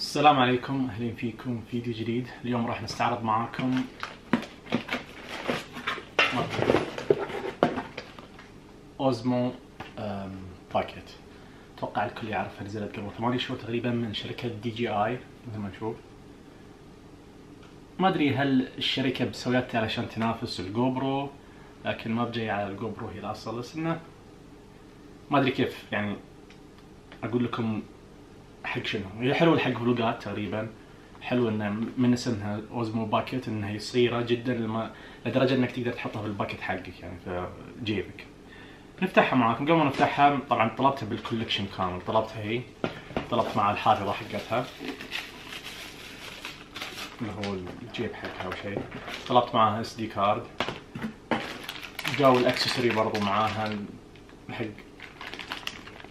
السلام عليكم، اهلين فيكم في فيديو جديد. اليوم راح نستعرض معاكم اوزمو باكيت. اتوقع الكل يعرفها، نزلت قبل 8 شهور تقريبا من شركة DJI مثل ما نشوف. ما ادري هل الشركة مسويتها علشان تنافس الجو برو، لكن ما بجاي على الجو برو هي الاصل، بس انه ما ادري كيف يعني اقول لكم حق شنو. هي حلوه حق فلوقات تقريبا، حلو انه من اسمها اوزمو باكيت انها هي صغيره جدا لدرجه انك تقدر تحطها في الباكيت حقك يعني في جيبك. نفتحها معاكم. قبل ما نفتحها طبعا طلبتها بالكولكشن كامل، طلبتها هي، طلبت مع الحافظه حقتها اللي هو الجيب حقها او شيء، طلبت معاها SD كارد، جاو الاكسسوري برضو معاها حق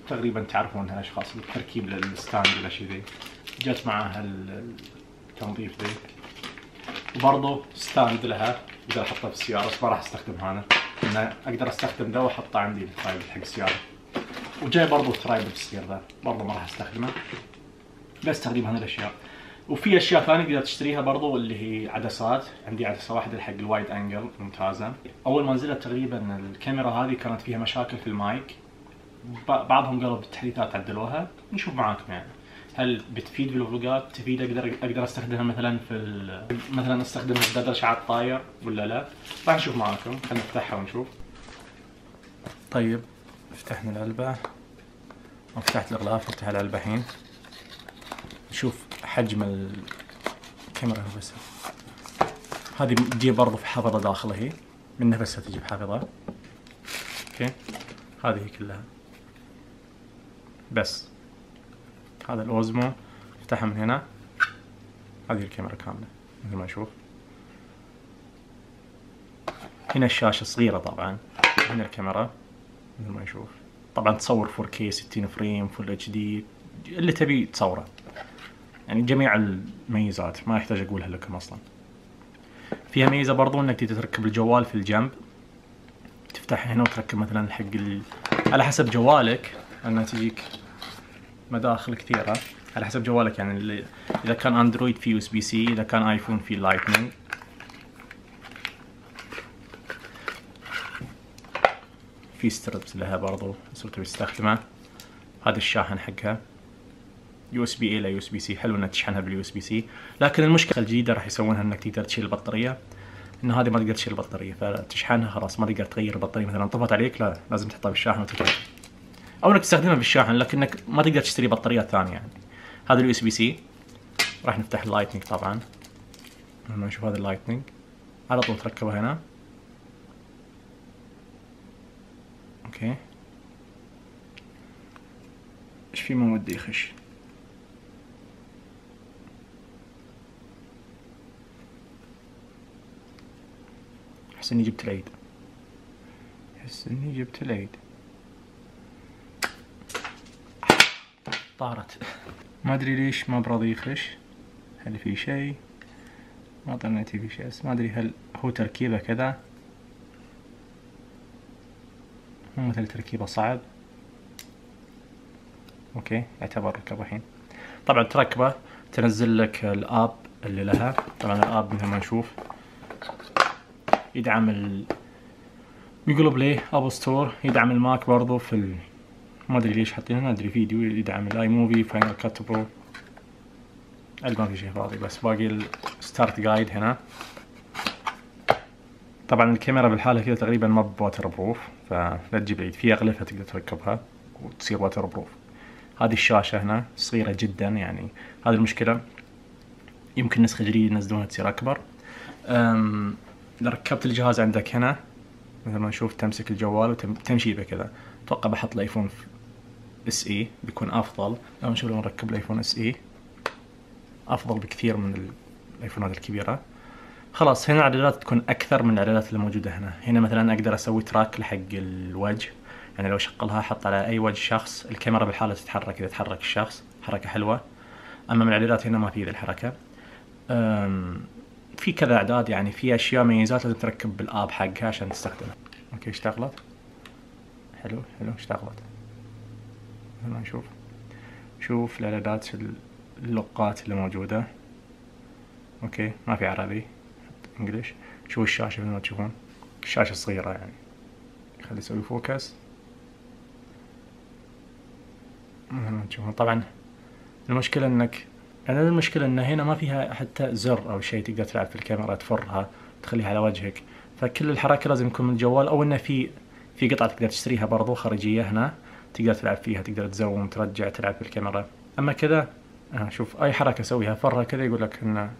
تقريبا تعرفونها ايش خاص التركيب للستاند ولا شيء ذي، جت معاها التنظيف ذي، وبرضه ستاند لها اقدر احطها في السيارة، بس ما راح استخدم هذا، انه اقدر استخدم ذا واحطه عندي الترايبل حق السيارة، وجاي برضه الترايبل الصغير ذا برضه ما راح استخدمه، بس تقريبا هذه الاشياء. وفي اشياء ثانيه تقدر تشتريها برضو اللي هي عدسات، عندي عدسه واحده حق الوايد انجل ممتازه. اول ما نزلت تقريبا الكاميرا هذه كانت فيها مشاكل في المايك، بعضهم قالوا بالتحديثات عدلوها، نشوف معاكم يعني هل بتفيد بالفلوقات، تفيد اقدر استخدمها مثلا مثلا استخدمها في بدل شعار طاير ولا لا. راح نشوف معاكم، خلينا نفتحها ونشوف. طيب فتحنا العلبه، وفتحت الاغلاف، نفتح العلبه الحين نشوف حجم الكاميرا. بس هذه تجيب برضو في حافظة داخلها، هي من نفسها تجيب حافظة. اوكي، هذه هي كلها. بس هذا الاوزمو، افتحها من هنا، هذه الكاميرا كاملة مثل ما نشوف. هنا الشاشة صغيرة طبعا، هنا الكاميرا مثل ما نشوف. طبعا تصور 4K 60 فريم فل HD اللي تبي تصوره، يعني جميع الميزات ما يحتاج اقولها لكم اصلا. فيها ميزه برضو انك تقدر تركب الجوال في الجنب، تفتحها هنا وتركب مثلا حق على حسب جوالك، انها تجيك مداخل كثيره على حسب جوالك، يعني اذا كان اندرويد في USB-C، اذا كان ايفون في لايتنينج. في ستربس لها برضو صرت تستخدمها. هذا الشاحن حقها USB A الى USB-C، حلو انك تشحنها بالUSB-C، لكن المشكله الجديده راح يسوونها انك تقدر تشيل البطاريه، ان هذه ما تقدر تشيل البطاريه، فتشحنها خلاص ما تقدر تغير البطاريه، مثلا طفت عليك لا لازم تحطها بالشاحن وتكمل، او انك تستخدمها بالشاحن لكنك ما تقدر تشتري بطاريات ثانيه يعني. هذا الUSB-C. راح نفتح اللايتنينج طبعا، لما نشوف هذا اللايتنينج على طول تركبها هنا. اوكي، ايش في ما ودي يخش. احس اني جبت العيد، طارت. ما ادري ليش ما براضي يخش، هل في شيء؟ ما ظنيتي في شيء، بس ما ادري هل هو تركيبه كذا، مو مثل تركيبه صعب. اوكي، يعتبر ركب الحين. طبعا تركبه تنزل لك الاب اللي لها، طبعا الاب مثل ما نشوف يدعم جوجل بلاي، ابل ستور، يدعم الماك برضو في ما ادري ليش حاطين هنا، ادري فيديو، يدعم الاي موفي، فاينل كات برو، ما في شيء فاضي، بس باقي الستارت جايد هنا. طبعا الكاميرا بالحالة كذا تقريبا ما بواتر بروف، فلا تجيب عيد، في اغلفة تقدر تركبها وتصير واتر بروف. هذه الشاشة هنا صغيرة جدا، يعني هذه المشكلة، يمكن نسخة جديدة ينزلونها تصير اكبر. اذا ركبت الجهاز عندك هنا مثل ما نشوف تمسك الجوال وتمشي به كذا. اتوقع بحط الايفون SE بيكون افضل. لما نشوف لما نركب الايفون SE افضل بكثير من الايفونات الكبيرة. خلاص هنا الاعدادات تكون اكثر من الاعدادات اللي موجودة هنا. هنا مثلا اقدر اسوي تراك لحق الوجه، يعني لو شغلها احط على اي وجه شخص، الكاميرا بالحالة تتحرك اذا تحرك الشخص، حركة حلوة. اما من الاعدادات هنا ما في ذي الحركة. في كذا اعداد، يعني في اشياء ميزات لازم تركب بالاب حقها عشان تستخدمها. اوكي اشتغلت، حلو اشتغلت. هنا نشوف الاعدادات اللقات اللي موجودة. اوكي ما في عربي، انجليش. شوفوا الشاشة مثل ما تشوفون، الشاشة صغيرة يعني. خلي اسوي فوكس مثل ما تشوفون. طبعا المشكلة ان هنا ما فيها حتى زر او شيء تقدر تلعب في الكاميرا تفرها تخليها على وجهك، فكل الحركة لازم يكون من الجوال، او انه في قطعة تقدر تشتريها برضو خارجية هنا تقدر تلعب فيها، تقدر تزوم ترجع تلعب في الكاميرا. اما كذا شوف اي حركة اسويها فرها كذا يقول لك انه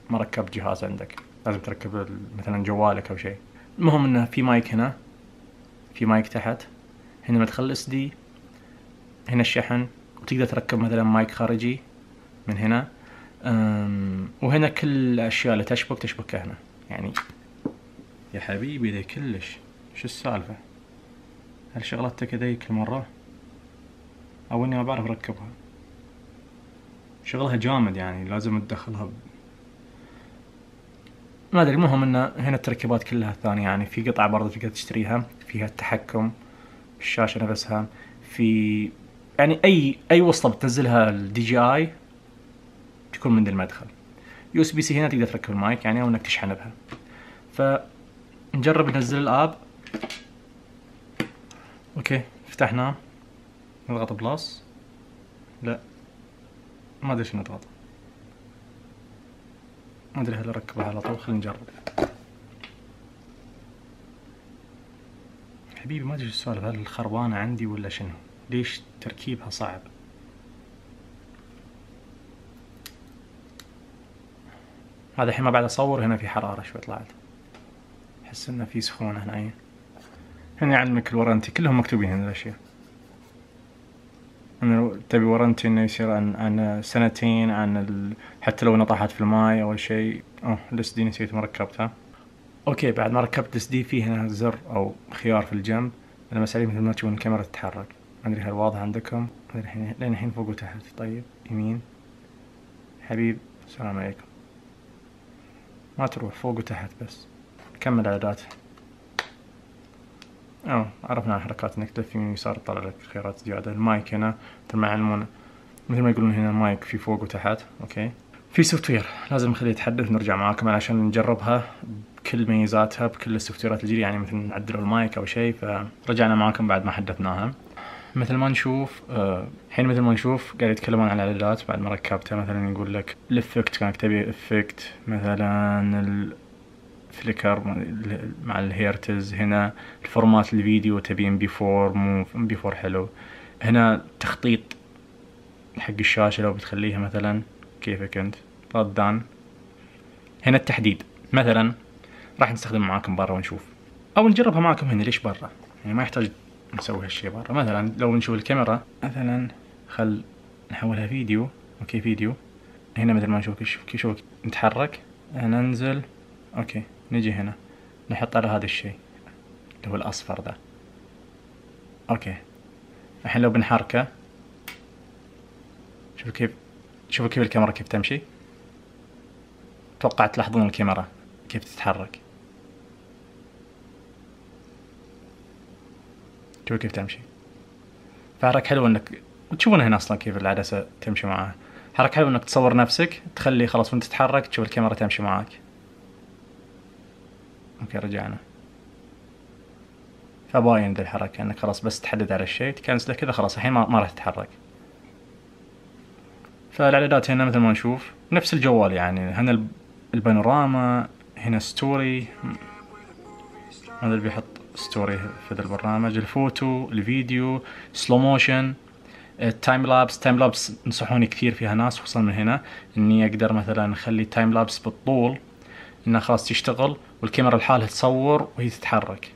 ما ركبت جهاز عندك، لازم تركب مثلا جوالك او شيء. المهم انه في مايك هنا، في مايك تحت، هنا مدخل اس دي، هنا الشحن، وتقدر تركب مثلا مايك خارجي من هنا. وهنا كل الاشياء اللي تشبكها هنا يعني. يا حبيبي ذي كلش شو السالفة؟ هل شغلتك ذي كل مرة؟ او اني ما بعرف اركبها؟ شغلها جامد يعني، لازم تدخلها ما ادري. المهم ان هنا التركيبات كلها ثانية يعني. في قطعة برضه تقدر تشتريها فيها التحكم، الشاشة نفسها، في يعني اي وصلة بتنزلها الدي جي اي تكون من المدخل. يو اس بي سي هنا تقدر تركب المايك يعني، او انك تشحن بها. فنجرب ننزل الاب. اوكي فتحناه، نضغط بلس، لا ما ادري شو نضغط، ما ادري هل اركبها على طول. خلينا نجرب. حبيبي ما ادري شو السالفة، هل الخربانة عندي ولا شنو؟ ليش تركيبها صعب؟ هذا الحين ما بعد اصور، هنا في حرارة شوي طلعت، احس انه في سخونة هنا. هنا يعلمك الورنتي، كلهم مكتوبين هنا الاشياء. انه تبي ورنتي انه يصير عن سنتين، حتى لو نطحت في الماي او شيء. الاس دي نسيت ما ركبتها. اوكي بعد ما ركبت الاس دي في هنا زر او خيار في الجنب، انا مسألة مثل ما تشوفون الكاميرا تتحرك. ما ادري هل واضح عندكم؟ لين الحين فوق وتحت. طيب يمين حبيب، السلام عليكم. ما تروح فوق وتحت بس. كمل اعدادات. عرفنا الحركات، انك تلف يمين ويسار تطلع لك خيارات زيادة. المايك هنا مثل ما يعلمون، مثل ما يقولون هنا المايك في فوق وتحت. اوكي في سوفت وير لازم نخليه يتحدث، نرجع معاكم علشان نجربها بكل ميزاتها بكل السوفت ويرات الجديدة يعني، مثل نعدلوا المايك او شيء. فرجعنا معاكم بعد ما حدثناها. مثل ما نشوف الحين مثل ما نشوف قاعد يتكلمون عن الاعدادات بعد ما ركبتها. مثلا يقول لك الافكت، كانك تبي افكت مثلا الفليكر مع الهيرتز. هنا الفورمات الفيديو تبي ام بي 4 مو ام بي 4 حلو. هنا تخطيط حق الشاشة لو بتخليها مثلا كيفك انت ردان. هنا التحديد مثلا راح نستخدم معاكم برا ونشوف، او نجربها معاكم هنا. ليش برا يعني؟ ما يحتاج نسوي هالشي برا. مثلا لو نشوف الكاميرا مثلا، خل نحولها فيديو. اوكي فيديو. هنا مثل ما نشوف شوف نتحرك، ننزل. اوكي نجي هنا نحط على هذا الشيء اللي هو الاصفر ده. اوكي الحين لو بنحركه شوفوا كيف الكاميرا كيف تمشي. اتوقع تلاحظون الكاميرا كيف تتحرك. شوفوا كيف تمشي. فحركة حلوة انك تشوفون هنا اصلا كيف العدسة تمشي معاها. حركة حلوة انك تصور نفسك، تخلي خلاص وانت تتحرك تشوف الكاميرا تمشي معاك. اوكي رجعنا. فباين ذا الحركة انك خلاص بس تحدد على الشيء تكنسله كذا خلاص الحين ما راح تتحرك. فالاعدادات هنا مثل ما نشوف نفس الجوال يعني. هنا البانوراما، هنا ستوري، هذا اللي بيحط ستوري في ذا البرنامج. الفوتو، الفيديو، سلو موشن، التايم لابس. تايم لابس نصحوني كثير فيها ناس خصوصا من هنا اني اقدر مثلا اخلي تايم لابس بالطول، انها خلاص تشتغل والكاميرا لحالها تصور وهي تتحرك.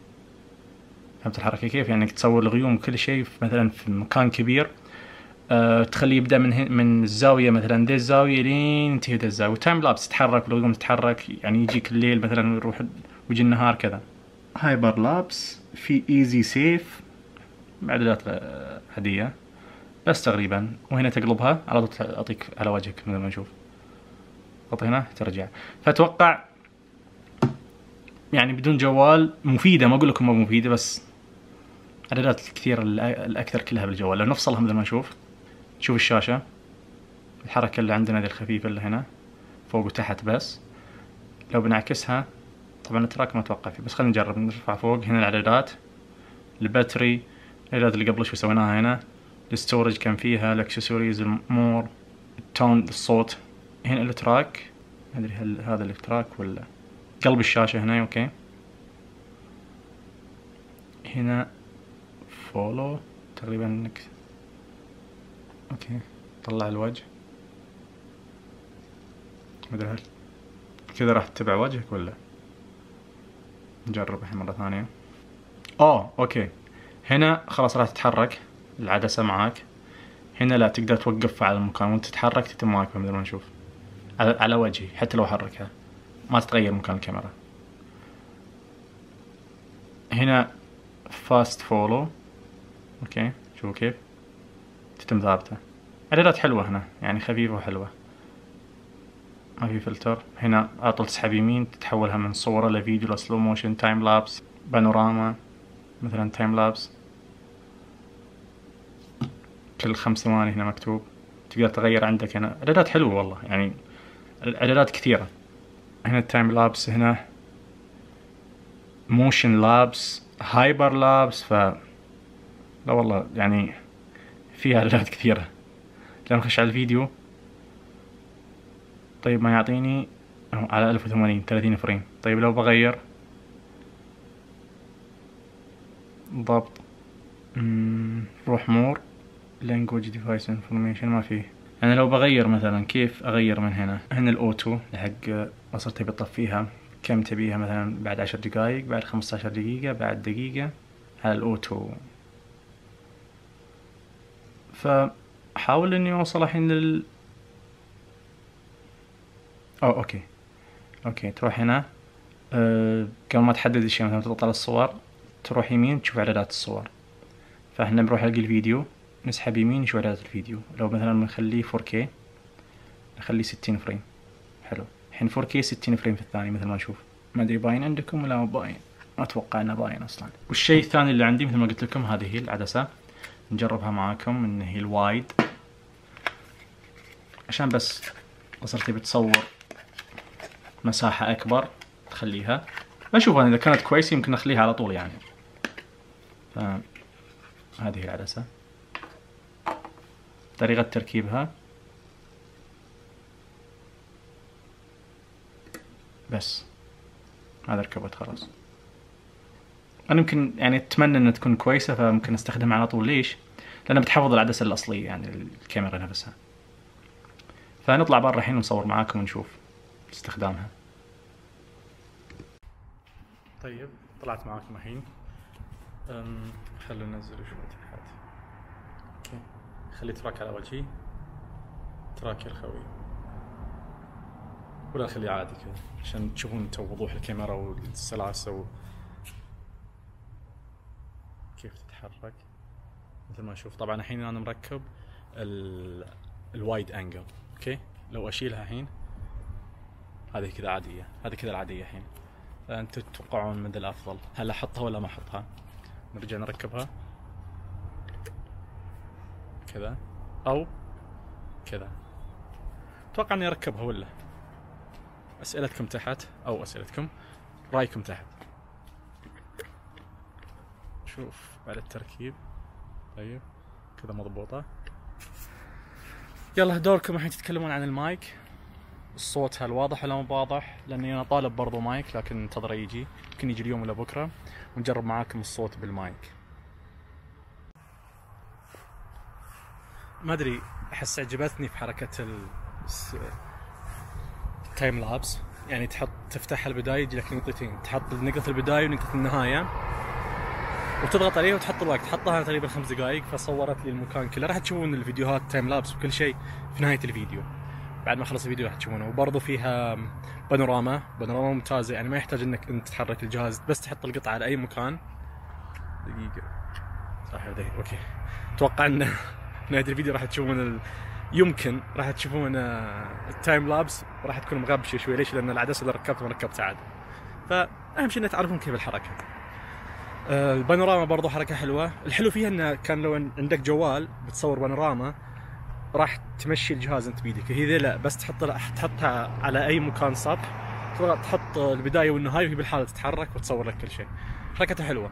فهمت الحركة كيف؟ يعني تصور الغيوم وكل شيء مثلا في مكان كبير، تخليه يبدأ من الزاوية مثلا دي الزاوية لين ينتهي دي الزاوية. تايم لابس تتحرك والغيوم تتحرك يعني، يجيك الليل مثلا ويروح ويجي النهار كذا. هايبر لابس، في ايزي سيف، اعدادات عادية بس تقريبا. وهنا تقلبها على طول تعطيك على وجهك مثل ما نشوف. حط هنا ترجع. فاتوقع يعني بدون جوال مفيدة، ما اقول لكم ما مفيدة، بس اعدادات الكثير الاكثر كلها بالجوال. لو نفصلها مثل ما نشوف، شوف الشاشة الحركة اللي عندنا ذي الخفيفة اللي هنا فوق وتحت بس. لو بنعكسها طبعا التراك ما اتوقع فيه، بس خلينا نجرب نرفع فوق. هنا الاعدادات، الباتري، الاعدادات اللي قبل شوي سويناها هنا، الستورج كان فيها، الاكسسوارز، المور، التون، الصوت. هنا التراك، ما ادري هل هذا التراك ولا قلب الشاشة هنا. اوكي هنا فولو تقريبا انك اوكي طلع الوجه، ما ادري هل كذا راح تتبع وجهك ولا. نجرب الحين مرة ثانية. اوكي هنا خلاص راح تتحرك العدسة معاك. هنا لا، تقدر توقفها على المكان وانت تتحرك تتم معاك مثل ما نشوف على وجهي، حتى لو حركها ما تتغير مكان الكاميرا. هنا فاست فولو، اوكي شوفوا كيف تتم ثابتة. اعدادات حلوة هنا يعني خفيفة وحلوة، ما في فلتر. هنا على طول تسحب يمين تتحولها من صورة لفيديو لسلو موشن، تايم لابس، بانوراما مثلا تايم لابس كل 5 ثواني هنا مكتوب. تقدر تغير عندك هنا. اعدادات حلوة والله يعني، اعدادات كثيرة. هنا التايم لابس، هنا موشن لابس، هايبر لابس. لا والله يعني فيها اعدادات كثيرة. لما نخش على الفيديو طيب ما يعطيني على 1080 30 فريم. طيب لو بغير ضبط، روح مور language device information، ما فيه. انا لو بغير مثلا كيف اغير من هنا الاوتو حق وصلت تبي تطفيها كم تبيها، مثلا بعد 10 دقائق، بعد 15 دقيقة، بعد دقيقة، على الاوتو. فحاول اني اوصل الحين اوكي تروح هنا قبل ما تحدد الشيء، مثلا تضغط على الصور تروح يمين تشوف اعدادات الصور. فاحنا بنروح حق الفيديو نسحب يمين نشوف اعدادات الفيديو. لو مثلا بنخليه 4K نخليه 60 فريم. حلو الحين 4K 60 فريم في الثانية مثل ما نشوف. ما ادري باين عندكم ولا مو باين، ما اتوقع انه باين اصلا. والشيء الثاني اللي عندي مثل ما قلت لكم هذه هي العدسة، نجربها معاكم ان هي الوايد، عشان بس صرت تبي تصور مساحة اكبر تخليها. بشوف انا اذا كانت كويسة يمكن اخليها على طول يعني. هذه العدسة طريقة تركيبها بس. هذا ركبت خلاص. انا يمكن يعني اتمنى انها تكون كويسة فممكن استخدمها على طول. ليش؟ لانها بتحفظ العدسة الاصلية يعني الكاميرا نفسها. فنطلع برا الحين ونصور معاكم ونشوف استخدامها. طيب طلعت معاكم الحين. خلوا ننزل شوي تحت. اوكي خلي تراك على وجهي، تراك يا الخوي، ولا خليه عادي كذا عشان تشوفون انتم وضوح الكاميرا والسلاسة كيف تتحرك مثل ما نشوف. طبعا الحين انا مركب الوايد انجل. اوكي لو اشيلها الحين هذه كذا عادية، هذه كذا العادية الحين. فانتم تتوقعون من ذا الافضل، هل احطها ولا ما احطها؟ نرجع نركبها كذا او كذا. اتوقع اني اركبها ولا. اسئلتكم تحت او اسئلتكم رايكم تحت. شوف بعد التركيب. طيب كذا مضبوطة. يلا دوركم الحين تتكلمون عن المايك. الصوت هل واضح ولا مو واضح؟ لاني انا طالب برضو مايك لكن انتظره يجي، يمكن يجي اليوم ولا بكره ونجرب معاكم الصوت بالمايك. ما ادري احس عجبتني في حركة التايم لابس، يعني تفتح البداية يجي لك نقطتين، تحط نقطة البداية ونقطة النهاية وتضغط عليها وتحط الوقت. حطها تقريبا 5 دقائق فصورت لي المكان كله. راح تشوفون الفيديوهات تايم لابس وكل شيء في نهاية الفيديو، بعد ما خلص الفيديو راح تشوفونه. وبرضه فيها بانوراما ممتازة، يعني ما يحتاج انك انت تحرك الجهاز، بس تحط القطعة على اي مكان. دقيقة صح دقيقة. اوكي اتوقع ان نهاية الفيديو راح تشوفون يمكن راح تشوفون التايم لابس راح تكون مغبشة شوي. ليش؟ لان العدسة اللي ركبتها عاد. فاهم شيء انك تعرفون كيف الحركة. البانوراما برضو حركة حلوة. الحلو فيها انه كان لو عندك جوال بتصور بانوراما راح تمشي الجهاز انت بيدك. هي لا بس تحطها على اي مكان سطح، تحط البدايه والنهايه وهي بالحاله تتحرك وتصور لك كل شيء. حركتها حلوه.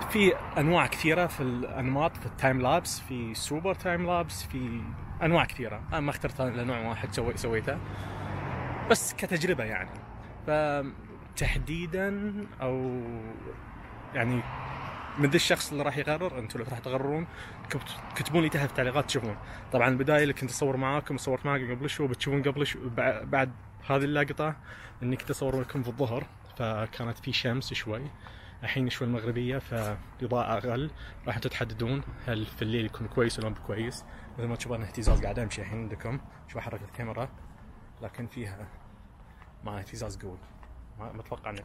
في انواع كثيره في الانماط، في التايم لابس، في سوبر تايم لابس، في انواع كثيره. انا ما اخترت الا نوع واحد سويته بس كتجربه يعني. فتحديدا او يعني من ذا الشخص اللي راح يقرر، انتم اللي راح تقررون، كتبون لي تحت في التعليقات تشوفون. طبعا البدايه اللي كنت اصور معاكم صورت معاكم قبل شوي، بتشوفون قبل شوي بعد هذه اللقطه اني كنت اصور لكم في الظهر، فكانت في شمس شوي. الحين شوي المغربيه فالاضاءه اقل، راح تحددون هل في الليل يكون كويس ولا مو كويس. مثل ما تشوفون اهتزاز قاعد امشي الحين عندكم، شوف احرك الكاميرا لكن فيها مع اهتزاز قوي. ما اتوقع ان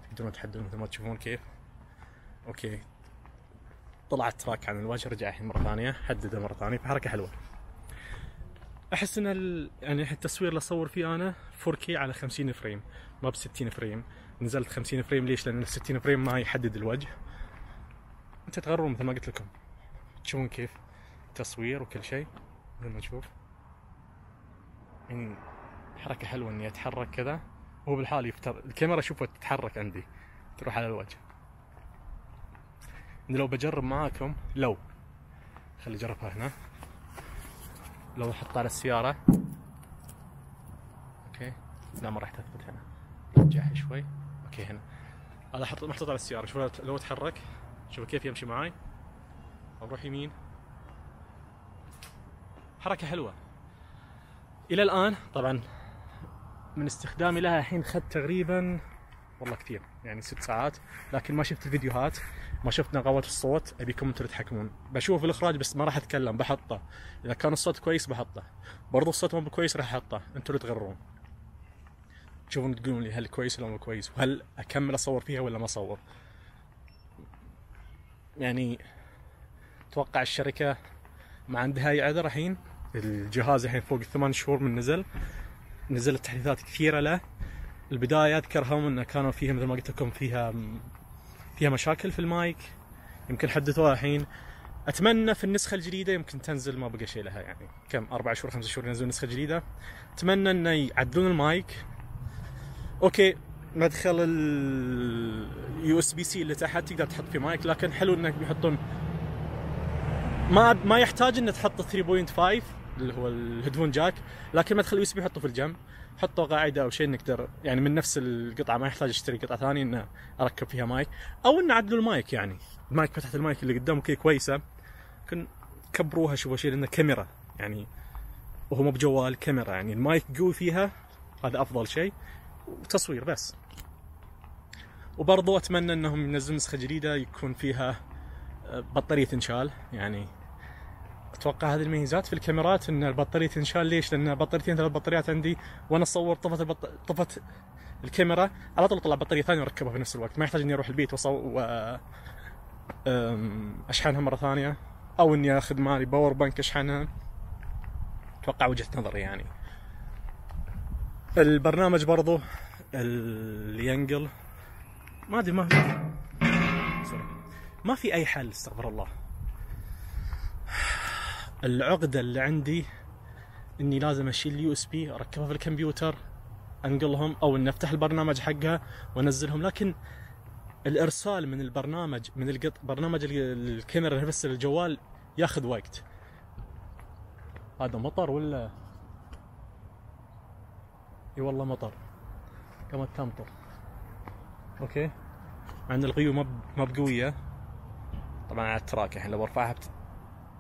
تقدرون تحددون مثل ما تشوفون كيف. اوكي طلعت تراك عن الوجه، رجع الحين مره ثانيه، حدده مره ثانيه، فحركه حلوه. احس ان يعني التصوير اللي اصور فيه انا 4K على 50 فريم ما ب 60 فريم. نزلت 50 فريم ليش؟ لان ال 60 فريم ما يحدد الوجه. انت تقررون مثل ما قلت لكم، تشوفون كيف تصوير وكل شيء مثل ما تشوف. يعني حركه حلوه اني اتحرك كذا وهو بالحال الكاميرا شوفوا تتحرك عندي تروح على الوجه. لو بجرب معاكم، لو خلي اجربها هنا، لو احطها على السيارة، اوكي لا ما راح تثبت هنا، رجعها شوي، اوكي هنا هذا محطوط على السيارة. شوف لو اتحرك شوف كيف يمشي معاي، اروح يمين، حركة حلوة. الى الان طبعا من استخدامي لها الحين اخذت تقريبا والله كثير يعني 6 ساعات، لكن ما شفت الفيديوهات، ما شفت نغمات الصوت، ابيكم انتم تتحكمون. بشوف الاخراج بس ما راح اتكلم، بحطه. اذا كان الصوت كويس بحطه، برضو الصوت مو كويس راح احطه، انتم اللي تقررون. تشوفون تقولون لي هل كويس ولا مو كويس، وهل اكمل اصور فيها ولا ما اصور. يعني اتوقع الشركه ما عندها اي عذر الحين. الجهاز الحين فوق 8 شهور من نزلت تحديثات كثيره له. البدايه اذكرهم انه كانوا فيها مثل ما قلت لكم فيها مشاكل في المايك، يمكن حدثوها الحين. اتمنى في النسخه الجديده يمكن تنزل، ما بقى شيء لها يعني كم 4 شهور 5 شهور ينزلون نسخه جديده. اتمنى انه يعدلون المايك. اوكي مدخل اليو اس بي سي اللي تحت تقدر تحط فيه مايك، لكن حلو انك بيحطون ما يحتاج انك تحط 3.5 اللي هو الهيدفون جاك، لكن مدخل اليو اس بي حطه في الجنب، حطوا قاعده او شيء نقدر يعني من نفس القطعه، ما يحتاج اشتري قطعه ثانيه ان اركب فيها مايك، او ان اعدلوا المايك. يعني المايك فتحه المايك اللي قدام كي كويسه، ممكن كبروها شوي شيء لانه كاميرا يعني، وهو مو بجوال كاميرا يعني المايك قوي فيها، هذا افضل شيء، وتصوير بس. وبرضو اتمنى انهم ينزلون نسخه جديده يكون فيها بطاريه تنشال. يعني اتوقع هذه الميزات في الكاميرات ان البطاريه تنشال. ليش؟ لان بطاريتين 3 بطاريات عندي، وانا اصور طفت الكاميرا على طول طلع بطاريه ثانيه وركبها في نفس الوقت، ما يحتاج اني اروح البيت اشحنها مره ثانيه، او اني اخذ مالي باور بانك اشحنها. اتوقع وجهه نظري يعني. البرنامج برضو اللي ينقل ما ادري، ما في اي حل، استغفر الله. العقدة اللي عندي اني لازم اشيل اليو اس بي اركبها في الكمبيوتر انقلهم، او ان افتح البرنامج حقها وانزلهم. لكن الارسال من البرنامج من برنامج الكاميرا نفسه للجوال ياخذ وقت. هذا مطر ولا اي والله مطر، قامت تمطر. اوكي مع ان الغيوم ما بقويه طبعا على التراك، الحين لو برفعها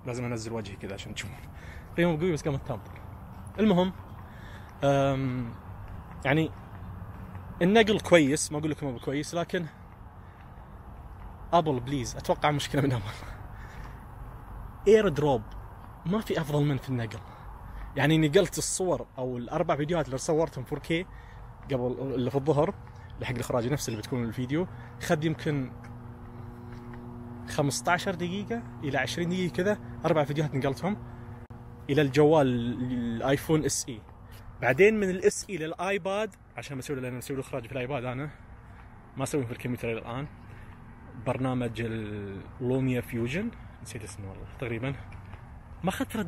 لازم انزل وجهي كذا عشان تشوفون. غيوم قوي بس قامت تمطر. المهم يعني النقل كويس، ما اقول لكم مو كويس، لكن ابل بليز اتوقع مشكله من ابل. اير دروب ما في افضل من في النقل. يعني نقلت الصور او الاربع فيديوهات اللي صورتهم 4K قبل اللي في الظهر اللي حق الاخراج نفس اللي بتكون الفيديو، خد يمكن 15 دقيقة إلى 20 دقيقة كذا، 4 فيديوهات نقلتهم إلى الجوال الآيفون اس اي. بعدين من الاس اي للآيباد عشان مسوي، لأن مسوي الإخراج في الآيباد أنا ما أسويه في الكمبيوتر إلى الآن. برنامج اللوميا فيوجن نسيت اسمه والله تقريبا، ما اخذ 3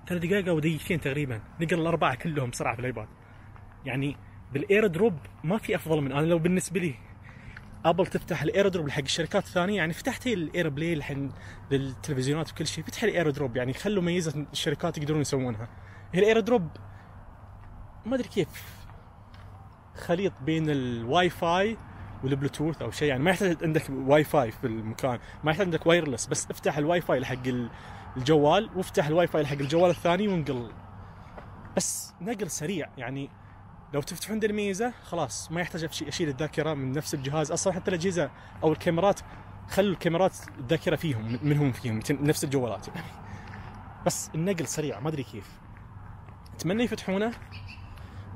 دقائق او دقيقتين تقريبا، نقرا الاربعه كلهم بسرعه في الايباد. يعني بالاير دروب ما في افضل من، انا لو بالنسبه لي ابل تفتح الاير دروب حق الشركات الثانيه، يعني فتحت الاير بلاي الحين للتلفزيونات وكل شيء، فتح الاير دروب، يعني خلوا ميزه الشركات يقدرون يسوونها. هي الاير دروب ما ادري كيف خليط بين الواي فاي والبلوتوث او شيء، يعني ما يحتاج عندك واي فاي في المكان، ما يحتاج عندك وايرلس، بس افتح الواي فاي حق الجوال وافتح الواي فاي حق الجوال الثاني وانقل، بس نقل سريع. يعني لو تفتحون ذي الميزه خلاص ما يحتاج اشيل الذاكره من نفس الجهاز. اصلا حتى الاجهزه او الكاميرات خلوا الكاميرات الذاكره فيهم منهم نفس الجوالات يعني. بس النقل سريع ما ادري كيف. اتمنى يفتحونه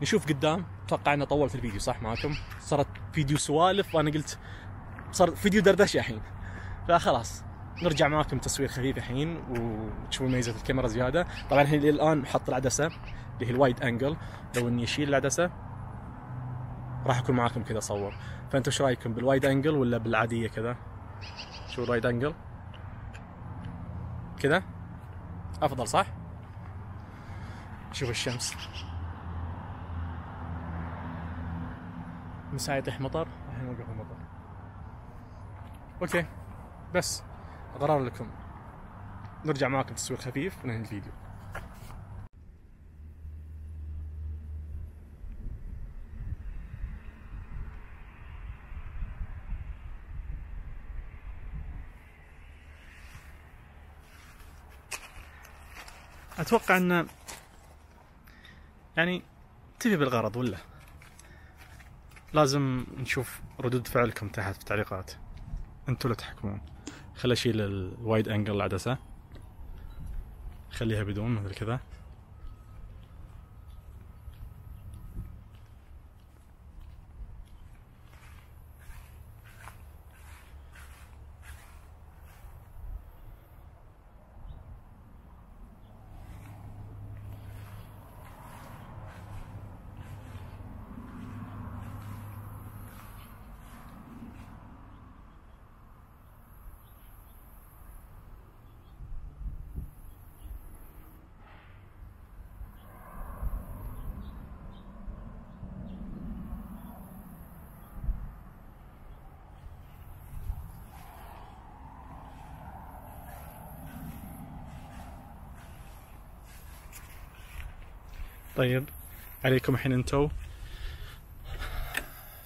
نشوف قدام. اتوقع انه طول في الفيديو صح معكم، صارت فيديو سوالف وانا قلت صار فيديو دردشه الحين، فخلاص نرجع معاكم تصوير خفيف الحين وتشوفون ميزه الكاميرا زياده. طبعا الان محط العدسه اللي هي الوايد انجل، لو اني اشيل العدسه راح اكون معاكم كذا اصور. فانتوا ايش رايكم بالوايد انجل ولا بالعاديه كذا؟ شو الوايد انجل كذا افضل صح؟ شوف الشمس مساء يطيح مطر، الحين وقف المطر. اوكي بس قرار لكم، نرجع معاكم تصوير خفيف وننهي الفيديو. اتوقع ان يعني تفي بالغرض، ولا لازم نشوف ردود فعلكم تحت في التعليقات، انتوا اللي تحكمون. خلي اشيل الوايد انجل العدسه، خليها بدون مثل كذا. طيب عليكم الحين انتو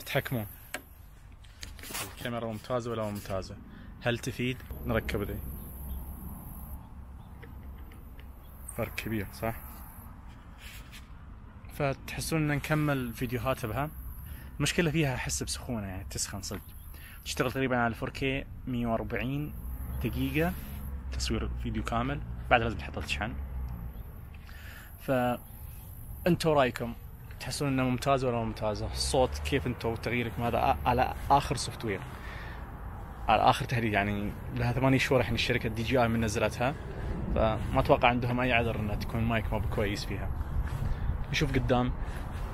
تحكمون الكاميرا ممتازة ولا ممتازة، هل تفيد نركب ذي؟ فرق كبير صح؟ فتحسون ان نكمل فيديوهات بها. المشكلة فيها احس بسخونة، يعني تسخن صدق. تشتغل تقريبا على 4K 140 دقيقة تصوير فيديو كامل، بعد لازم تحطها تشحن. انتوا رايكم تحسون انها ممتازه ولا ممتازه؟ الصوت كيف انتوا تغييركم هذا على اخر سوفت وير، على اخر تحديث، يعني لها 8 شهور الحين الشركه DJI من نزلتها، فما اتوقع عندهم اي عذر انها تكون مايك ما بكويس فيها. نشوف قدام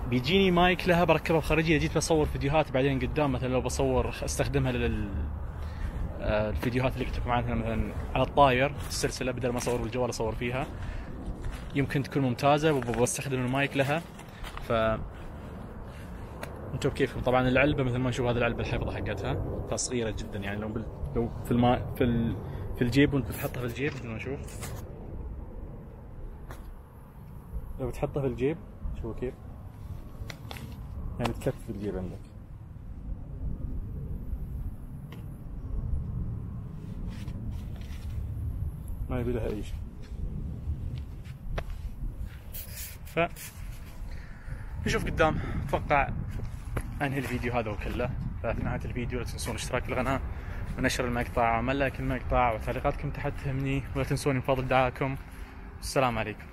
بيجيني مايك لها بركبها بخارجيه، جيت بصور فيديوهات بعدين قدام مثلا لو بصور استخدمها الفيديوهات اللي كنت معنا مثلا على الطاير السلسله، بدل ما اصور بالجوال اصور فيها، يمكن تكون ممتازة وبستخدم المايك لها. ف انتم كيفكم؟ طبعا العلبة مثل ما نشوف هذه العلبة الحفظة حقتها فصغيرة جدا، يعني لو في الجيب وانت بتحطها في الجيب مثل ما نشوف، لو بتحطها في الجيب شوفوا كيف يعني تكفي في الجيب عندك. ما يبي لها اي شيء. نشوف قدام. اتوقع انهي الفيديو هذا وكله. ففي نهاية الفيديو لا تنسون الاشتراك في القناة ونشر المقطع وعمل لايك المقطع، وتعليقاتكم تحت تهمني، ولا تنسون من فضل دعائكم. السلام عليكم.